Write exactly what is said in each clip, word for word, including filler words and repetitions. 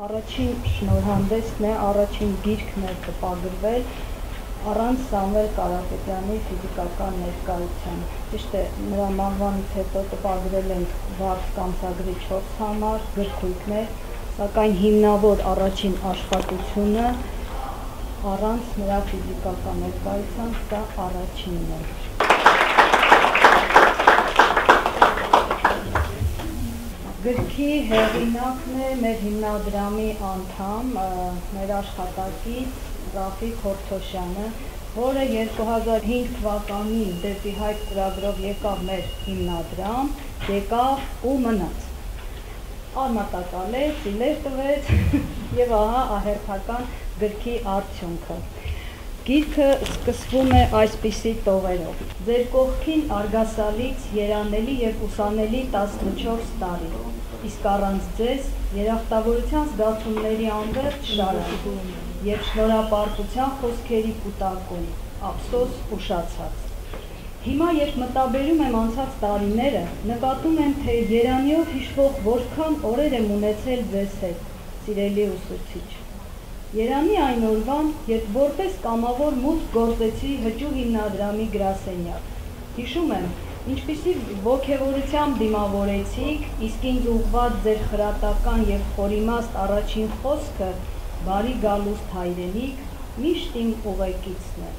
Առաջին շնորհանդէսն է, առաջին գիրքն է տպագրվել առանց Սամվել Կարապետեանի ֆիզիկական ներկայության։ Ճիշդ է, նրա մահվանից հետո տպագրել ենք Վարդգ ամսագրի չորս համար գրքույկներ, սակայն հիմնաւոր առաջին աշխատությունը առանց նրա ֆիզիկական ներկայության սա առաջինն է։ Գրքի հեղինակն է մեր հիմնադրամի անդամ, ը, մեր աշխատակից Ռաֆիկ Հորթոշյանը, որը երկու հազար հինգ թվականին դէպի Հայք ծրագրով եկաւ մեր հիմնադրամ, եկաւ ու մնաց։ Արմատակալեց, իլեր տուեց եւ ահա ահերթական գրքի արդիւնքը։ Գիրքը սկսվում է այսպիսի տողերով. «Ձեր կողքին արգասալից երանելի եւ ուսանելի տասնչորս տարի, իսկ առանց ձեզ երախտավորության զգացումների անվերջ շարան եւ շնորհապարտության խօսքերի կուտակում, ափսոս, ուշացած։ Հիմա, երբ մտաբերում եմ անցած տարիները, նկատում եմ, թե երանիով յիշուող որքան օրեր եմ ունեցել ձեզ հետ, սիրելի ուսուցիչ։ Երանի այն օրուան, երբ որպես կամաւոր մուտք գործեցի Հճու հիմնադրամի գրասենյակ։ Յիշում եմ, ինչպիսի ոգեւորությամբ դիմաւորեցիք, իսկ ինձ ուղղուած ձեր խրատական եւ խորիմաստ առաջին խօսքը՝ "Բարի գալուստ, հայրենիք", միշտ իմ ուղեկիցն է։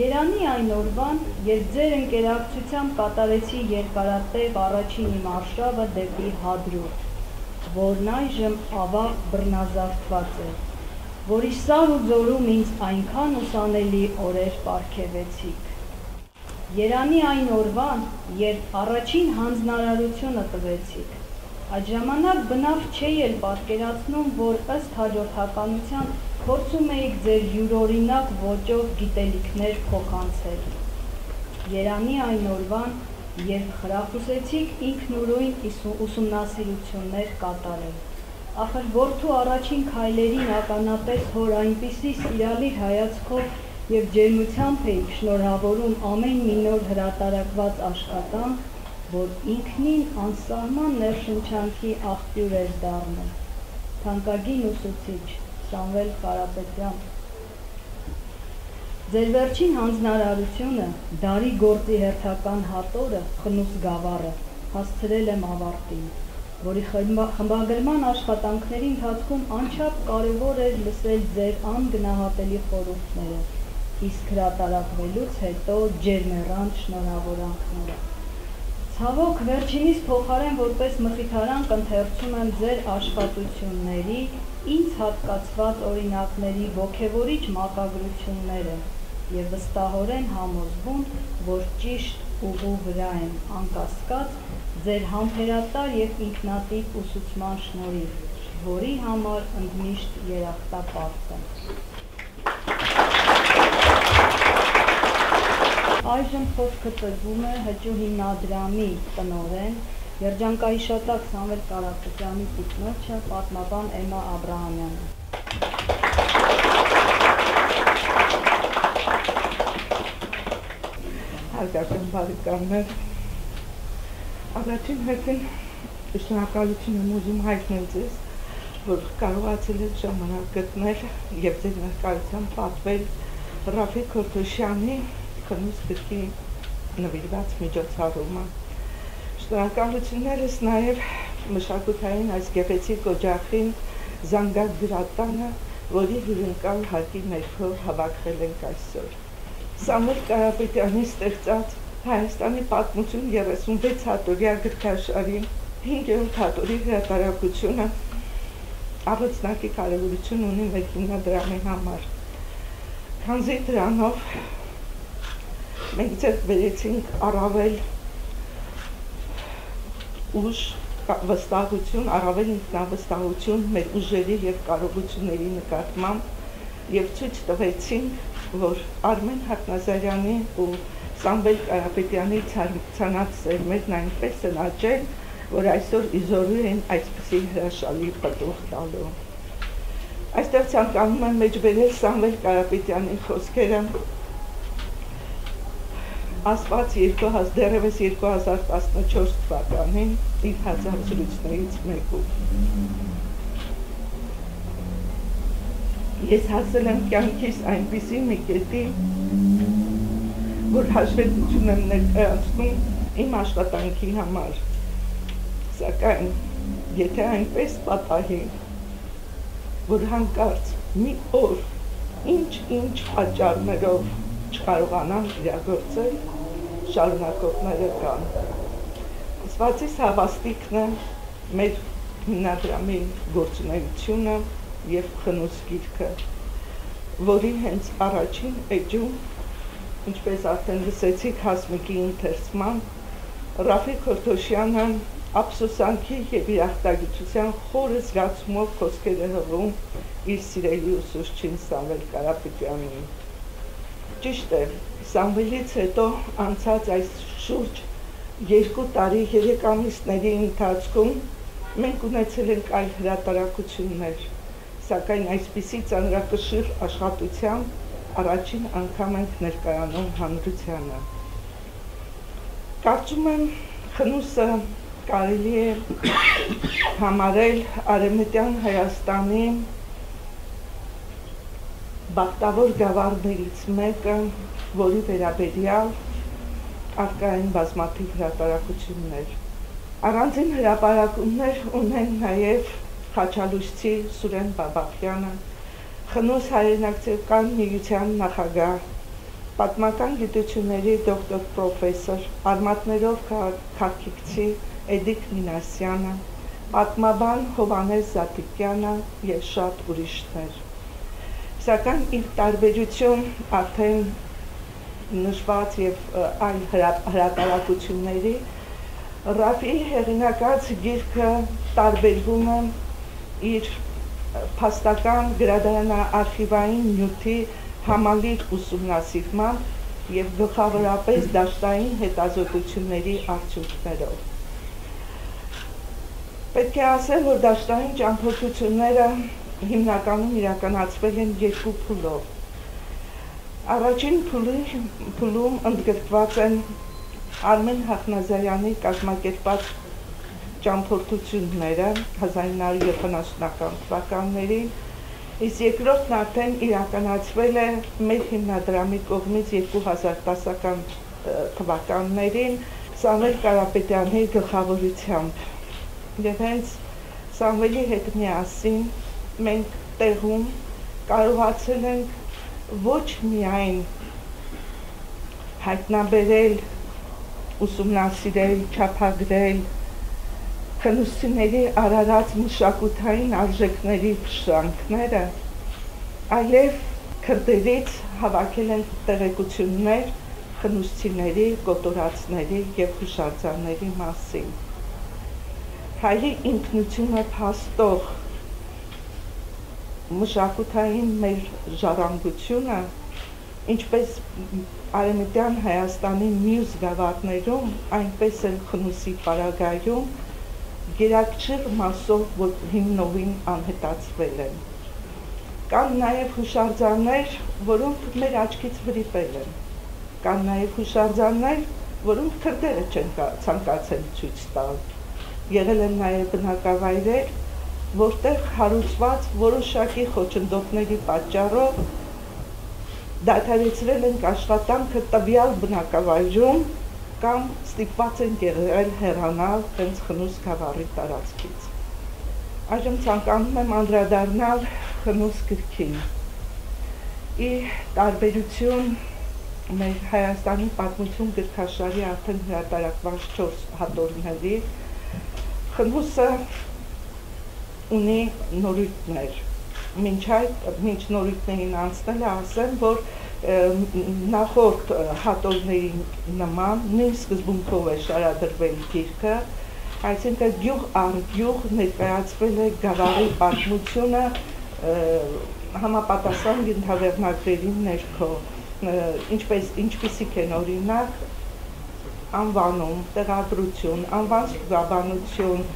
Երանի այն օրուան, երբ ձեր ընկերակցությամբ կատարեցի երկարատեւ առաջին իմ արշաւը դէպի Հադրութ, որն այժմ, աւաղ, բռնազարդուած է, որի սար ու ձորում ինձ այնքան ուսանելի օրեր պարգեւեցիք։ Երանի այն օրուան, երբ առաջին յանձնարարությունը տուեցիք։ Այդ ժամանակ բնաւ չէի էլ պատկերացնում, որ ըստ հաջորդականության փորձում էիք ձեր իւրօրինակ ոճով գիտելիքներ փոխանցել։ Երանի այն օրուան, երբ խրախուսեցիք ինքնուրույն իսու-, ուսումնասիրություններ կատարել։ Ախր որդու առաջին քայլերին ականատես հօր այնպիսի սիրալիր հայացքով եւ ջերմությամբ էիք շնորհաւորում ամէն մի նոր հրատարակուած աշխատանք, որ ինքնին անսահման ներշնչանքի աղբիւր էր դառնում։ Թանկագին ուսուցիչ Սամվել Կարապետեան, ձեր վերջին յանձնարարությունը, դարի գործի հերթական հատորը, խնուս գաւառը, հասցրել եմ աւարտին, որի խմբա-, խմբագրման աշխատանքների ընթացքում անչափ կարեւոր էր լսել ձեր անգնահատելի խորհուրդները, իսկ հրատարակվելուց յետոյ ջերմեռանդ շնորհաւորանքները։ Ցաւօք, վերջինիս փոխարէն որպես մխիթարան կ'ընթերցում եմ ձեր աշխատությունների, ինձ հատկացուած օրինակների ոգեւորիչ մակագրությունները եւ վստահօրէն համոզվում, որ ճիշտ ուղու վրայ եմ, անկասկած, ձեր համբերատար եւ ինքնատիպ ուսուցման շնորհիվ, որի համար ընդմիշտ երախտապարտ եմ։ Այժմ խօսքը տրուում է Հճու հիմնադրամի տնօրէն, երջանկահիշատակ Սամվել Կարապետեանի տիկնոջը, պատմաբան Էմմա Աբրահամեանը։ Հարգարժան բարեկամներ, առաջին հերթին շնորհակալություն եմ ուզում հայտնել ձեզ, որ կարողացել եք ժամանակ գտնել եւ ձեր ներկայությամբ պատմել Ռաֆիկ Հորթոշեանի «Խնուս» գրքի նուիրուած միջոցառումը։ Շնորհակալություններս նաեւ մշակութային այս գեղեցիկ օջախին, Զանգակ գրատանը, որի հիւրընկալ հարկի ներքո հավաքվել ենք այսօր։ Սամվել Կարապետեանի ստեղծած «Հայաստանի պատմություն երեսունվեց հատորեայ» գրքաշարի հինգերորդ հատորի հրատարակությունը առանձնակի կարեւորություն ունի մեր հիմնադրամի համար, քանզի դրանով մենք ձեռք բերեցինք առավել ուժ, կա-, վստահություն, առավել ինքնավստահություն մեր ուժերի եւ կարողությունների նկատմամբ, եւ ցոյց տուեցինք, որ Արմէն Հակնազարեանի ու Սամվել Կարապետեանի ցար-, ցանած սերմերն այնպէս են աճել, որ այսօր ի զօրու են այսպիսի հրաշալի պտուղ տալու։ Այստեղ ցանկանում եմ մեջբերել Սամվել Կարապետեանի խոսքերը, ասված երկու հազար, դեռեւս երկու հազար տասնչորս թվականին իր հարցազրույցներից մեկում։ Ես հասել եմ կեանքիս այնպիսի մի կետի, որ հաշվետվութիւն եմ ներկայացնում իմ աշխատանքի համար։ Սակայն, եթե այնպես պատահի, որ յանկարծ մի օր ինչ-ինչ պատճառներով չկարողանամ իրագործել, շարունակողները կան։ Ասուածիս հավաստիքն է մեր հիմնադրամի գործունեութիւնը եւ Խնուս գիրքը, որի հենց առաջին էջում, ինչպես արդեն լսեցիք Հասմիկի ընթերցման, Ռաֆիկ Քորթոշեանը ափսոսանքի եւ երախտագիտության խոր զգացումով խոսքեր է հղում իր սիրելի ուսուցչին Սամվել Կարապետեանին։ Ճիշդ է, Սամվելից հետո անցած այս շուրջ երկու տարի, երեք ամիսների ընթացքում մենք ունեցել ենք այլ հրատարակություններ, սակայն այսպիսի ծանրակշիռ աշխատութեան առաջին անգամ ենք ներկայանում հանրությանը։ Կարծում եմ, Խնուսը կարելի է համարել Արեւմտեան Հայաստանի բախտաւոր գաւառներից մէկը, որի վերաբերեալ առկայ են բազմաթիւ հրատարակություններ։ Առանձին հրապարակումներ ունեն նաեւ խաչալույսցի Սուրէն Բաբախեանը, Խնուս հայրենակցական միութեան նախագահ, պատմական գիտութիւնների դոկտոր պրոֆեսոր, արմատներով քաղաքագիտացի Էդիկ Մինասեանը, պատմաբան Յովհաննէս Զատիկեանը եւ շատ ուրիշներ։ Սակայն, ի տարբերութիւն արդեն նշուած եւ, ը, այլ հրա-, հրատարակությունների, Ռաֆիի հեղինակած գիրքը տարբերվում է իր, ը, փաստական գրադարանաարխիվային նիւթի համալիր ուսումնասիրմամբ եւ գլխաւորապէս դաշտային հետազօտութիւնների արդիւնքներով։ Պետք է ասել, որ դաշտային ճամբորդութիւնները հիմնականում իրականացվել են երկու փուլով։ Առաջին փուլի-, փուլում ընդգրկուած են Արմէն Հախնազարեանի կազմակերպած ճամբորդութիւնները հազար ինը հարիւր յոթանասունական թուականներին, իսկ երկրորդն արդեն իրականացվել է մեր հիմնադրամի կողմից երկու հազար տասական, ը, թուականներին Սամվել Կարապետեանի գլխաւորութեամբ։ Եւ հենց Սամվելի հետ միասին մենք տեղում կարողացել ենք ոչ միայն հայտնաբերել, ուսումնասիրել, չափագրել խնուսցիների արարած մշակութային արժեքների փշրանքները, այլեւ քրտերից հավաքել ենք տեղեկութիւններ խնուսցիների, կոտորածների եւ յուշարձանների մասին։ Հայի ինքնութիւնը փաստող մշակութային մեր ժառանգութիւնը, ինչպես Արեւմտեան Հայաստանի միւս գաւառներում, այնպես էլ Խնուսի պարագայում, գերակշիռ մասով ո-, հիմնովին անհետացվել են։ Կան նաեւ յուշարձաններ, որոնք մեր աչքից վրիպել են։ Կան նաեւ յուշարձաններ, որոնք քրտերը չեն կա-, ցանկացել ցոյց տալ։ Եղել են նաեւ բնակավայրեր, որտեղ հարուցուած որոշակի խոչընդոտների պատճառով դադարեցրել ենք աշխատանքը տուեալ բնակավայրում կամ ստիպուած ենք եղել հեռանալ հենց Խնուս գաւառի տարածքից։ Այժմ ցանկանում եմ անդրադառնալ Խնուս գրքին։ Ի տարբերութիւն մեր Հայաստանի պատմութիւն գրքաշարի արդեն հրատարակուած չորս հատորների, Խնուսը ունի նորույթներ։ Մինչ այդ, մինչ նորույթներին անցնելը, ասեմ, որ, ը, նախորդ, ը, հատորների նման նոյն սկզբունքով է շարադրվել գիրքը, այսինքն՝ գիւղ առ գիւղ ներկայացվել է գաւառի պատմութիւնը, ը, համապատասխան ենթավեղնագրերին ներքո, ը, ինչպես, ինչպիսիք են, օրինակ, անուանում, տեղադրութիւն, անուան ստուգաբանութիւն,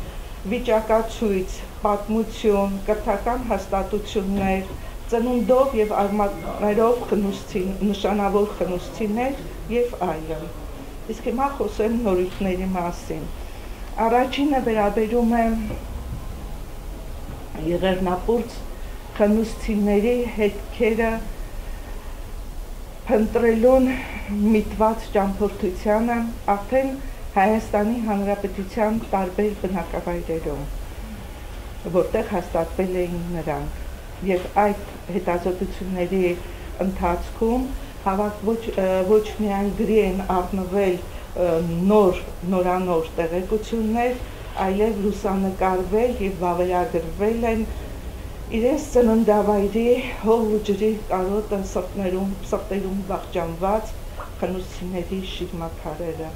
վիճակացոյց, պատմութիւն, կրթական հաստատութիւններ, ծնունդով եւ արմատներով խնուսցի-, նշանաւոր խնուսցիներ եւ այլն։ Իսկ հիմա խօսեմ նորույթների մասին։ Առաջինը վերաբերում է Եղեռնապուրծ Խնուսցիների հետքերը փնտռելուն միտված ճամբորդությանը արդեն Հայաստանի Հանրապետության տարբեր բնակավայրերում, որտեղ հաստատվել էին նրանք, եւ այդ հետազոտությունների ընթացքում հաւաք ոչ, ը, ոչ միայն գրի են առնվել, ը, նոր, նորանոր տեղեկություններ, այլեւ լուսանկարվել եւ վավերագրվել են իրենց ծննդավայրի հող ու ջրի կարոտը սրտներում, սրտերում վախճանված խնուսցիների շիրմաքարերը։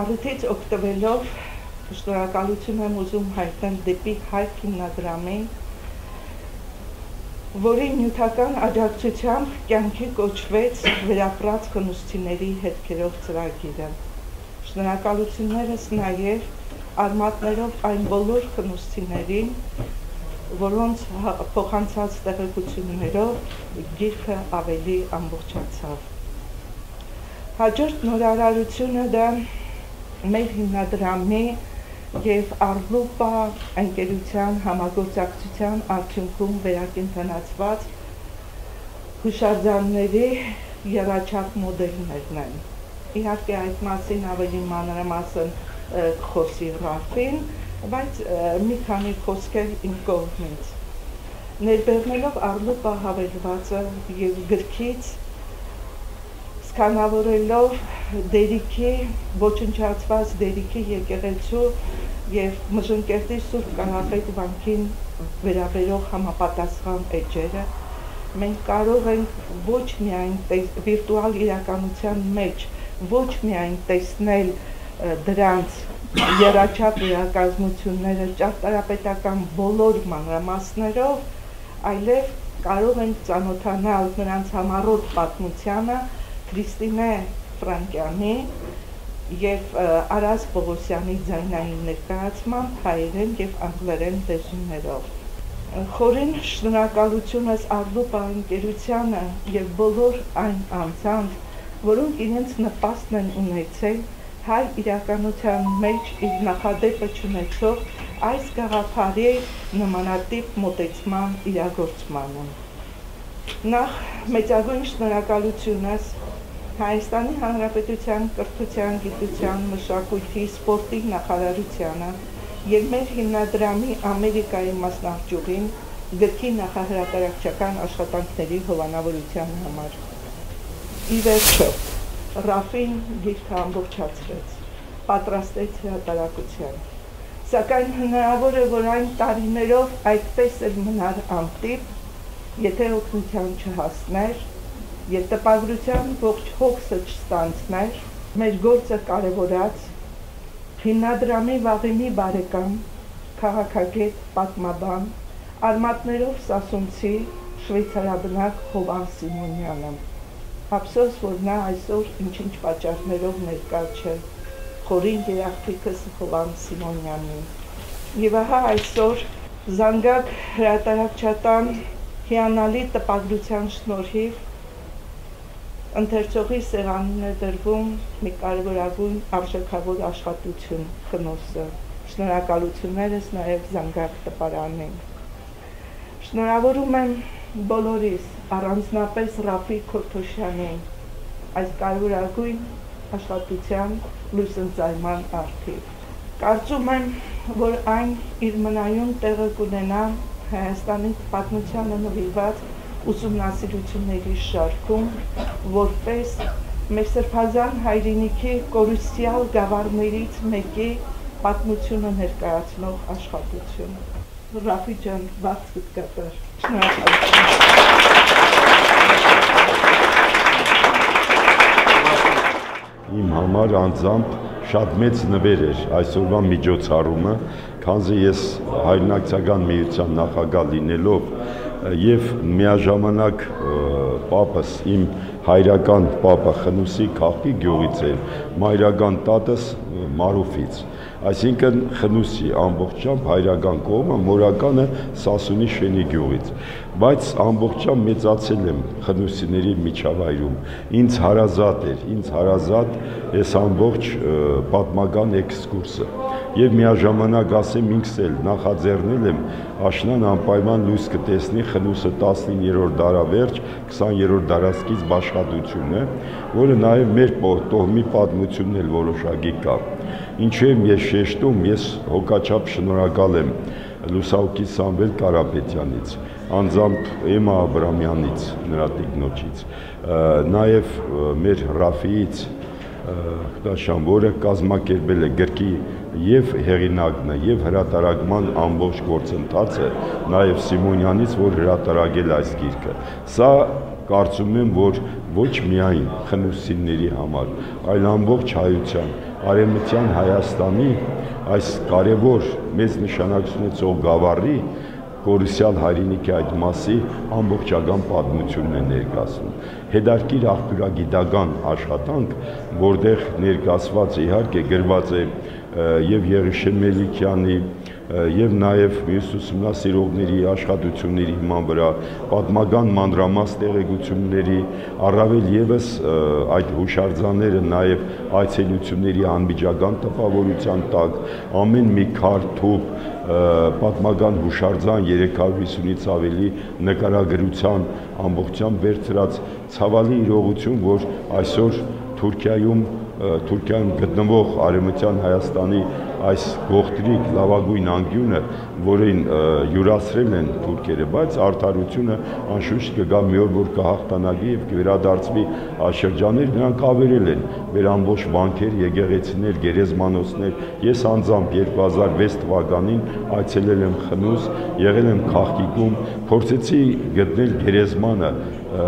Առիթից օգտվելով, շնորհակալություն եմ ուզում հայտնել դեպի Հայք հիմնադրամին, որին նիւթական աջակցությամբ կյանքի կոչուեց վերապրած խնուսցիների հետքերով ծրագիրը։ Շնորհակալություններս նաեւ արմատներով այն բոլոր խնուսցիներին, որոնց հա-, փոխանցած տեղեկություններով գիրքը ավելի ամբողջացաւ։ Հաջորդ նորարարությունը դա մեր հիմնադրամի եւ Արլուպա ընկերության համագործակցության արդիւնքում վերակենդանացուած յուշարձանների եռաչափ մոդելներն են։ Իհարկե, այդ մասին ավելի մանրամասն, ը, կխօսի Ռաֆին, բայց, ը, մի քանի խոսքեր իմ կողմից։ Ներբեռնելով Արլուպա հավելվածը եւ գրքից սկանավորելով Դերիքի, ոչնչացված Դերիքի եկեղեցու եւ Մժնկերտի Սուրբ Կարապետ վանքին վերաբերող համապատասխան էջերը, մենք կարող ենք ոչ միայն տես-, վիրտուալ իրականության մեջ ոչ միայն տեսնել, ը, դրանց եռաչափ վերակազմությունները ճարտարապետական բոլոր մանրամասներով, այլեւ կարող ենք ծանօթանալ նրանց համառոտ պատմությանը Քրիստինէ Ֆրանկեանի եւ, ը, Արաս Պողոսեանի ձայնային ներկայացմամբ հայերէն եւ անգլերէն լեզուներով։ Խորին շնորհակալությունս Արլուպա ընկերությանը եւ բոլոր այն անձանց, որոնք իրենց նպաստն են ունեցել հայ իրականության մեջ իր նախադէպը չունեցող այս գաղափարի նմանատիպ մոտեցման իրագործմանը։ Նախ, մեծագոյն շնորհակալությունս Հայաստանի Հանրապետության կրթության, գիտության, մշակոյթի, սպորտի նախարարությանը եւ մեր հիմնադրամի Ամերիկայի մասնաճյուղին գրքի նախահրատարակչական աշխատանքների հովանաւորության համար։ Ի վերջոյ, Ռաֆին գիրքը ամբողջացրեց, պատրաստեց հրատարակության։ Սակայն հնարաւոր է, որ այն տարիներով այդպես էլ մնար անտիպ, եթէ օգնութեան չհասներ եւ տպագրութեան ողջ հոգսը չստանձներ։ Մեր գործը կարեւորած հիմնադրամի վաղեմի բարեկամ, քաղաքագէտ, պատմաբան, արմատներով սասունցի, շուեյցարաբնակ Յովհան Սիմոնեանը։ Ափսոս, որ նա այսօր ինչ-ինչ պատճառներով ներկայ չէ, խորին երախտիկս Յովհան Սիմոնեանին։ Եւ ահա այսօր Զանգակ հրատարակչական հիանալի տպագրութեան շնորհիւ ընթերցողի սեղանին է դրվում մի կարեւորագոյն արժեքաւոր աշխատութիւն, Խնուսը։ Շնորհակալութիւններս նաեւ Զանգակ տպարանին։ Շնորհաւորում եմ բոլորիս, առանձնապէս Ռաֆի Քորթոշեանին, այս կարեւորագոյն աշխատութեան լուսընծայման առթիւ։ Կարծում եմ, որ այն իր մնայուն տեղը կունենայ Հայաստանի պատմությանը նուիրուած ուսումնասիրութիւնների շարքում, որպէս մեր սրբազան հայրենիքի կորուսեալ գաւառներից մէկի պատմութիւնը ներկայացնող աշխատութիւն։ Ռաֆի ջան, բացուդ կատար։ Շնորհակալություն։ Իմ համար անձամբ շատ մեծ նուեր էր այսօրվա միջոցառումը, քանզի ես հայրենակցական միության նախագահ լինելով, ը, եւ միաժամանակ, ը, պապս, իմ հայրական պապը Խնուսի քաղաքի գյուղից էր, մայրական տատս, ը, Մարուֆից։ Այսինքն Խնուսի ամբողջությամբ հայրական կողմը, մորականը Սասունի Շէնի գիւղից։ Բայց ամբողջությամբ մեծացել եմ խնուսիների միջավայրում։ Ինձ հարազատ էր, ինձ հարազատ էս ամբողջ, ը, պատմական էքսկուրսը։ Եւ միաժամանակ ասեմ, ինքս էլ նախաձեռնել եմ, աշնան անպայման լոյս կը տեսնի Խնուսը տասնիններորդ դարավերջ, քսաներորդ դարասկիզբ աշխատությունը, որը նաեւ մեր պո-, տոհմի պատմությունն էլ որոշակի կայ։ Ինչու եմ ես շեշտում, ես հոգաչափ շնորհակալ եմ լուսահոգի Սամվել Կարապետյանից, անձամբ Էմա Աբրամյանից, նրա տիկնոջից, ը, նաեւ, ը, մեր Ռաֆիից, ը, Դաշան, որը կազմակերպել է գրքի եւ հեղինակն է, եւ հրատարակման ամբողջ գործընթացը, նաեւ Սիմոնյանից, որ հրատարակել այս գիրքը։ Սա կարծում եմ, որ ոչ միայն խնուսցիների համար, այլ ամբողջ հայության, արեւմտեան Հայաստանի այս կարեւոր մեծ նշանակություն ունեցող գաւառի կորուսեալ հայրենիքի այդ մասի ամբողջական պատմությունն է ներկայացնում։ Հետարքիր աղբիւրագիտական աշխատանք, որտեղ ներկայացված է, իհարկե, գրված է, ը, եւ Եղիշէ Մելիքեանի, ը, եւ նաեւ մյուս ուսումնասիրողների աշխատությունների հիման վրա պատմական մանրամաս տեղեկությունների, առավել եւս, ը, այդ յուշարձանները նաեւ այցելությունների անմիջական տպաւորութեան տակ, ամէն մի քար, թուփ, ը, պատմական յուշարձան, երեք հարիւր ից աւելի նկարագրութեան ամբողջությամբ վերցրած, ցաւալի իրողություն, որ այսօր Թուրքիայում, ը, Թուրքիայում գտնուող Արեւմտեան Հայաստանի այս գողտրիկ լաւագոյն անկիւնը, որին, ը, յուրացրել են թուրքերը, բայց արդարությունը անշուշտ կը գայ մի օր, որ կը հաղթանակի եւ կը վերադարձուի այս շրջաններ, նրանք աւերել են մեր ամբողջ վանքեր, եկեղեցիներ, գերեզմանոցներ։ Ես անձամբ երկու հազար վեց թուականին այցելել եմ Խնուս, եղել եմ քաղքիկում, փորձեցի գտնել գերեզմանը, ը,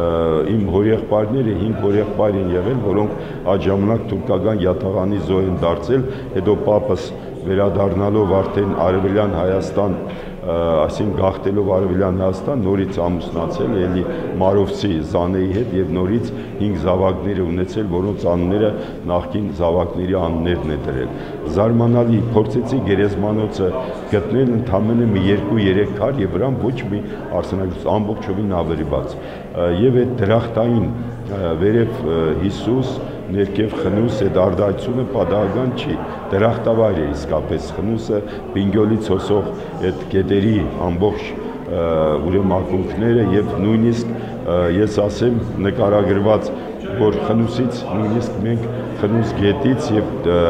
իմ հորեղբայրները, հինգ հորեղբայր են եղել, որոնք այդ ժամանակ թուրքական յաթաղանի զոհ են դարձել, հետո պապս վերադառնալով արդեն Արեւելեան Հայաստան, ը, այսինքն գաղթելով Արեւելեան Հայաստան, նորից ամուսնացել, էլի Մարովցի Զանեի հետ, եւ նորից հինգ զաւակները ունեցել, որոնց անունները նախկին զաւակների անուններն է դրել։ Զարմանալի, փորձեցի գերեզմանոցը գտնել, ընդամենը մի երկու-երեք քար, եւ վրան ոչ մի արձանագրություն, ամբողջովին աւերված։ Ը, եւ այդ դրախտային, ը, վերեւ, ը, Յիսուս, ներքեւ Խնուս, այդ արտայցունը պատահական չի, դրախտավայր է իսկապես Խնուսը, Պինկիոլից հոսող այդ գետերի ամբողջ, ը, ուրեմն ակունքները, եւ նոյնիսկ, ը, ես ասեմ, նկարագրված, որ Խնուսից, նոյնիսկ մենք Խնուս գետից եւ, ը,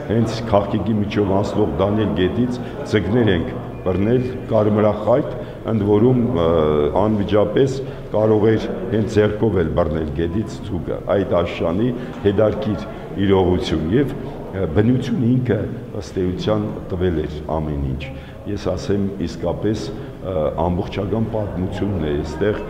հենց քաղքիկի միջով անցնող Դանիել գետից ձկներ ենք բռնել, կարմրախայտ, ընդ որում, ը, անմիջապես կարող էր հենց ձեռքով էլ բռնել գետից ձուկը։ Այդ աշնանի հետարքիր իրողություն եւ, ը, բնությունը ինքը ըստ էության տվել էր ամեն ինչ։ Ես ասեմ, իսկապես, ը, ամբողջական պատմությունն է այստեղ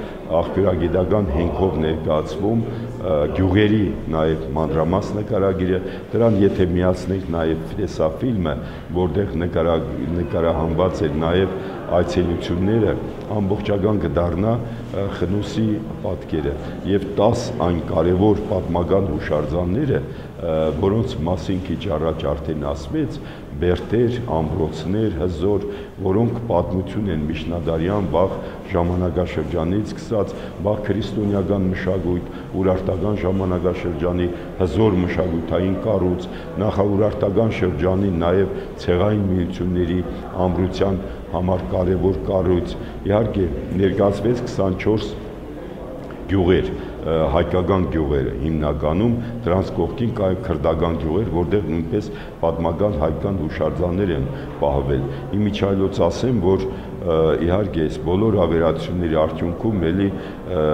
աղբիւրագիտական հենքով ներկայացվում, ը, գիւղերի նաեւ մանրամաս նկարագիրը, դրան եթե միացնենք նաեւ տեսաֆիլմը, որտեղ նկարա-, նկարահանուած էր նաեւ այցելությունները, ամբողջական կը դառնայ, ը, Խնուսի պատկերը եւ տաս այն կարեւոր պատմական յուշարձանները, ը, որոնց մասին քիչ առաջ արդեն ասվեց, բերդեր, ամրոցներ, հզոր, որոնք պատմություն են միջնադարեան վաղ ժամանակաշրջանից սկսած, վաղ քրիստոնեական մշակոյթ, Ուրարտական ժամանակաշրջանի հզոր մշակութային կառոյց, նախաուրարտական շրջանի նաեւ ցեղային միութիւնների ամրութեան համար կարեւոր կառոյց։ Իհարկե, ներկայացուեց քսանչորս գիւղեր, ը, հայկական գիւղերը հիմնականում, դրանց կողքին կային քրտական գիւղեր, որտեղ նոյնպես պատմական հայկական յուշարձաններ են պահվել։ Ի միջայլոց ասեմ, որ, ը, իհարկե, այս բոլոր աւերածությունների արդիւնքում էլի, ը,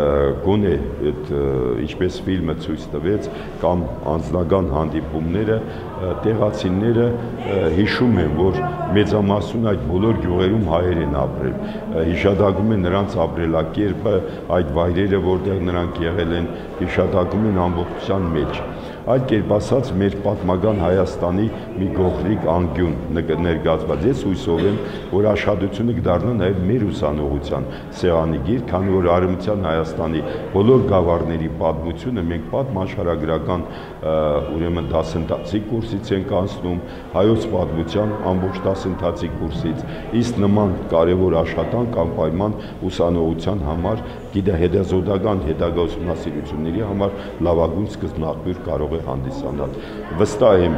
գոնե այդ, ը, ինչպես ֆիլմը ցոյց տուեց, կամ անձնական հանդիպումները, ը, տեղացիները, ը, յիշում են, որ մեծամասնուն այդ բոլոր գիւղերում հայեր են ապրել։ Ը, հիշատակում են նրանց ապրելակերպը, այդ վայրերը, որտեղ նրանք եղել են, հիշատակում են ամբողջության մեջ։ Այլ կերպ ասած, մեր պատմական Հայաստանի մի գողտրիկ անկիւն նկ-, ներկայացուած։ Ես յուսով եմ, որ աշխատությունը կդառնայ նաեւ մեր ուսանողութեան սեղանի գիր, քանի որ Արեւմտեան Հայաստանի բոլոր գաւառների պատմությունը մենք պատմաշխարհագրական, ը, ուրեմն դասընթացի կուրսից ենք անցնում, հայոց պատմութեան ամբողջ դասընթացի կուրսից, իսկ նման կարեւոր աշխատանք անպայման ուսանողութեան համար, գիտա, հետազոտական, հետագայ ուսումնասիրությունների համար լաւագոյն սկզբնաղբիւր կարող է հանդիսանալ։ Վստահ եմ,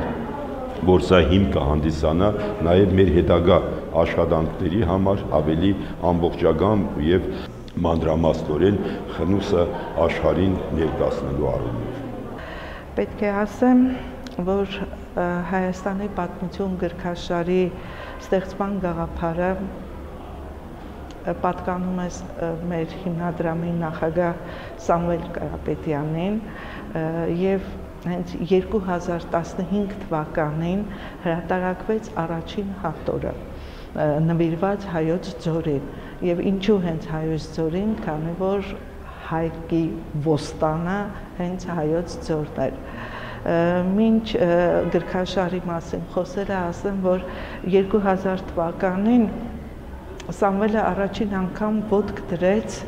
որ սա հիմք կը հանդիսանայ նաեւ մեր հետագայ աշխատանքների համար ավելի ամբողջական եւ մանրամասնօրէն խնուսը աշխարհին ներկայացնելու առումով։ Պետք է ասեմ, որ Հայաստանի պատմություն գրքաշարի ստեղծման գաղափարը պատկանում է մեր հիմնադրամի նախագահ Սամուել Կարապետեանին, եւ հենց երկու հազար տասնհինգ թվականին հրատարակվեց առաջին հատորը, նուիրուած հայոց ձորին։ Եւ ինչու հենց հայոց ձորին, քանի որ հայկի ոստանը հենց հայոց ձորն էր։ Մինչ գրքաշարի մասին խոսելը, ասեմ, որ երկու հազար թվականին Սամուելը առաջին անգամ ոտք դրեց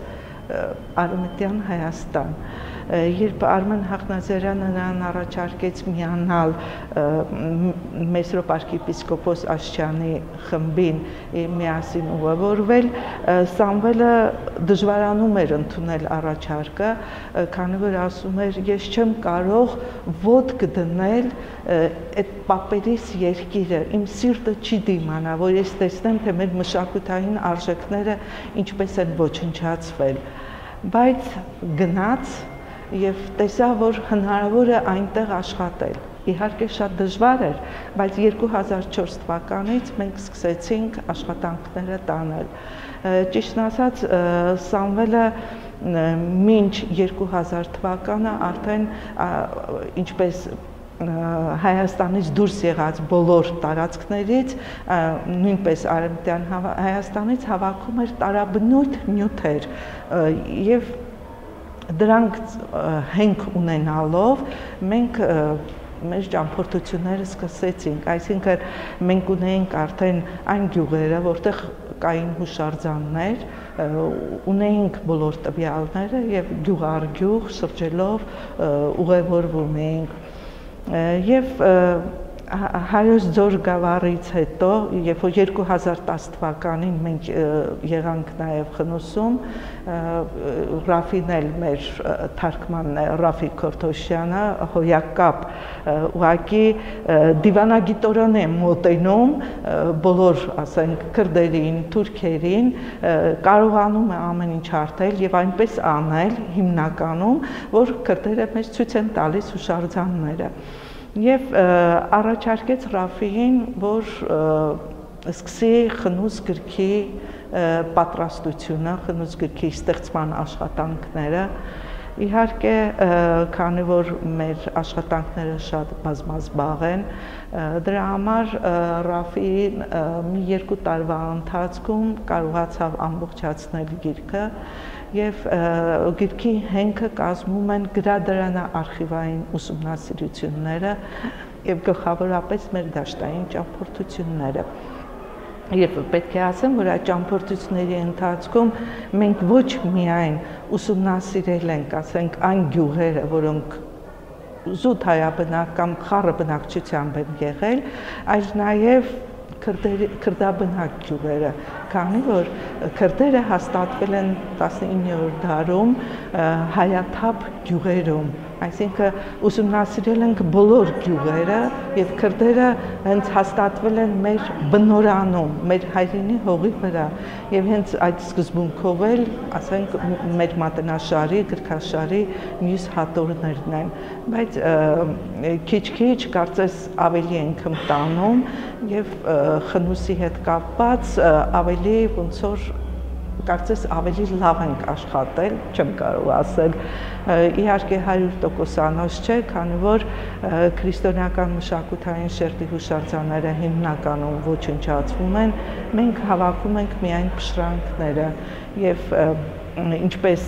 արմտեան Հայաստան, երբ Արմեն Հախնազարյանը նրան առաջարկեց միանալ Մեսրոպ արքիեպիսկոպոս Աշճանի խմբին միասին ուղևորվել, Սամուելը դժվարանում էր ընդունել առաջարկը, քանի որ ասում էր՝ «Ես չեմ կարող ոտք դնել այդ պապերիս երկիրը, իմ սիրտը չի դիմանայ, որ ես տեսնեմ, թե մեր մշակութային արժեքները ինչպես են ոչնչացվել»։ Բայց գնաց եւ տեսայ, որ հնարաւոր է այնտեղ աշխատել։ Իհարկե շատ դժվար էր, բայց երկու հազար չորս թվականից մենք սկսեցինք աշխատանքները տանել։ Ճիշտն ասած, Սամուելը մինչ երկու հազար թվականը արդեն, ինչպես Հայաստանից դուրս եղած բոլոր տարածքներից, նոյնպես Արեւմտեան Հայաստանից, հավաքում էր տարաբնույթ նիւթեր եւ դրանք հենք ունենալով մենք մեր ճամբորդությունները սկսեցինք, այսինքն մենք ունեինք արդեն այն գիւղերը, որտեղ կային յուշարձաններ, ունեինք բոլոր տուեալները եւ գիւղ առ գիւղ շրջելով ուղևորվում էինք։ Եվ հայոց ձոր գավառից հետո, երբ որ երկու հազար տաս թվականին մենք եղանք նաև խնուսում, Ռաֆին էլ մեր թարգմանն է, Ռաֆի Քորթոշյանը, հոյակապ, ուղղակի դիվանագիտորեն է մոտենում բոլոր, ասենք, քրդերին, թուրքերին, կարողանում է ամեն ինչ հարթել և այնպես անել հիմնականում, որ քրդերը մեզ ցույց են տալիս յուշարձանները։ Եվ առաջարկեց Ռաֆիին, որ սկսի խնուս գրքի պատրաստությունը, խնուս գրքի ստեղծման աշխատանքները։ Իհարկե, քանի որ մեր աշխատանքները շատ բազմազբաղ են, դրա համար Ռաֆին մի երկու տարվա ընթացքում կարողացավ ամբողջացնել գիրքը, և գիրքի հենքը կազմում են գրադարանաարխիվային ուսումնասիրությունները և գլխավորապես մեր դաշտային ճամբորդությունները։ Եվ պետք է ասեմ, որ այդ ճամբորդությունների ընթացքում մենք ոչ միայն ուսումնասիրել ենք, ասենք, այն գիւղերը, որոնք զուտ հայաբնակ կամ խառը բնակչությամբ են եղել, այլ նաև քրդերի, քրդաբնակ գիւղերը, քանի որ քրդերը հաստատվել են տասնիններորդ դարում հայաթափ գիւղերում, այսինքն ուսումնասիրել ենք բոլոր գիւղերը, և քրդերը հենց հաստատվել են մեր բնօրանում, մեր հայրենի հողի վրա, և հենց այդ սկզբունքով էլ, ասենք, մեր մատենաշարի, գրքաշարի մյուս հատորներն են, բայց քիչ-քիչ կարծես ավելի ենք հմտանում և խնուսի հետ կապված ավելի, ոնց որ, կարծես ավելի լավ ենք աշխատել, չեմ կարող ասել։ Իհարկե հարյուր տոկոս անոց չէ, քանի որ քրիստոնեական մշակութային շերտի յուշարձանները հիմնականում ոչնչացվում են, մենք հավաքում ենք միայն փշրանքները և, ինչպես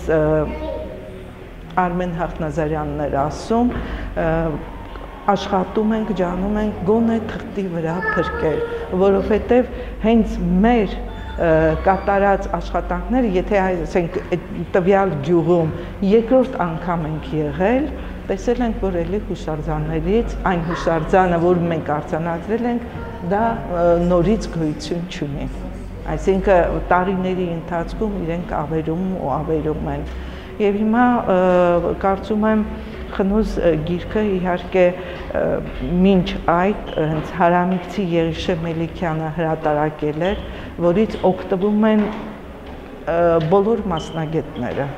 Արմեն Հախնազարյանն էր ասում, աշխատում ենք, ջանում ենք գոնե թղթի վրա փրկել, որովհետև հենց մեր կատարած աշխատանքները, եթե, ասենք, այդ տվյալ գիւղում երկրորդ անգամ ենք եղել, տեսել ենք, որ էլի յուշարձաններից, այն յուշարձանը, որ մենք արձանագրել ենք, դա նորից գոյություն չունի։ Այսինքն տարիների ընթացքում իրենք ավերում ու ավերում են։ Եվ հիմա կարծում եմ Խնուզ, ը, գիրքը իհարկե, ը, մինչ այդ, ը, հենց Հարամիկցի Եղիշէ Մելիքեանը հրատարակել էր, որից օգտվում են, ը, բոլոր մասնագետները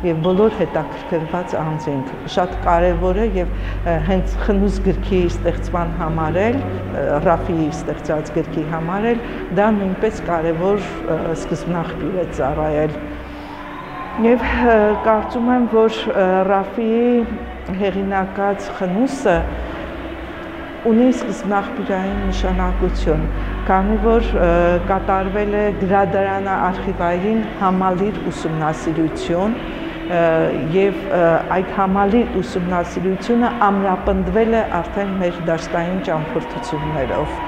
եւ բոլոր հետաքրքրված անձինք։ Շատ կարեւոր է եւ, ը, հենց Խնուզ գրքի ստեղծման համար էլ, ը, Ռաֆիի ստեղծած գրքի համար էլ դա նոյնպէս կարեւոր, ը, սկզբնաղբիւր է ծառայել։ Եւ, ը, կարծում եմ, որ, ը, Ռաֆիի հեղինակած Խնուսը ունի սկզբնաղբիւրային նշանակութիւն, քանի որ, ը, կատարվել է գրադարանը արխիվային համալիր ուսումնասիրութիւն, ը, եւ, ը, այդ համալիր ուսումնասիրութիւնը ամրապնդվել է արդեն մեր դաշտային ճամբորդութիւններով։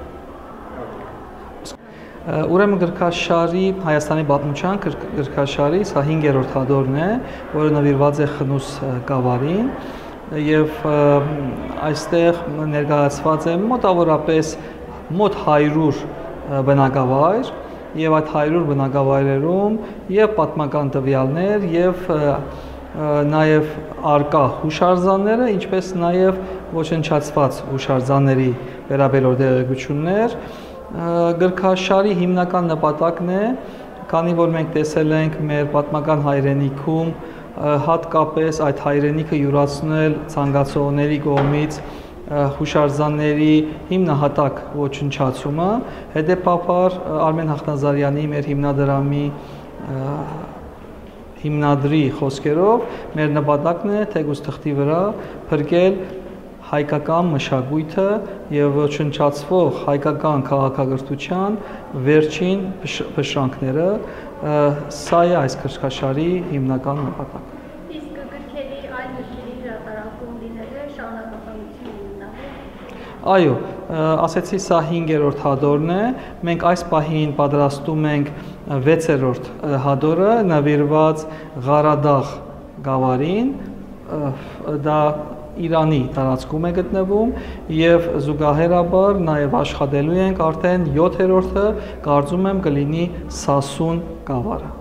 Ուրեմն գրքաշարի, Հայաստանի պատմութեան գրք-, գրքաշարի սա հինգերորդ հատորն է, որը նուիրուած է Խնուս, ը, գաւառին, եւ, ը, այստեղ ներկայացուած է մոտաւորապէս մոտ հարիւր, ը, բնակավայր, եւ այդ հարիւր բնակավայրերուն եւ պատմական տուեալներ եւ, ը, ը, նաեւ առկայ յուշարձանները, ինչպէս նաեւ ոչնչացուած յուշարձանների վերաբերող տեղեկութիւններ։ Ը, գրքաշարի հիմնական նպատակն է, քանի որ մենք տեսել ենք մեր պատմական հայրենիքում, ը, հատկապէս այդ հայրենիքը իւրացնել ցանկացողների կողմից, ը, յուշարձանների հիմնահատակ ոչնչացումը, հետեւաբար, ը, Արմէն Հախնազարեանի, մեր հիմնադրամի, ը, հիմնադրի խօսքերով, մեր նպատակն է թէկուզ թղթի վրայ փրկել հայկական մշակոյթը եւ ոչնչացվող հայկական քաղաքակրթութեան վերջին փշ-, փշրանքները, ը, սա է այս գրքաշարի հիմնական նպատակը։ Իսկ գրքերի, այլ գրքերի հրատարակում լինելը շարունակականություն ունենալու։ Այո, ը, ասեցի, սա հինգերորդ հատորն է։ Մենք այս պահին պատրաստում ենք, ը, վեցերորդ, ը, հատորը, նուիրուած Ղարադաղ գաւառին, ը, դա Իրանի տարածքում է գտնվում եւ զուգահեռաբար նաեւ աշխատելու ենք արդեն յոթերորդը, կարծում եմ կը լինի Սասուն գաւառը։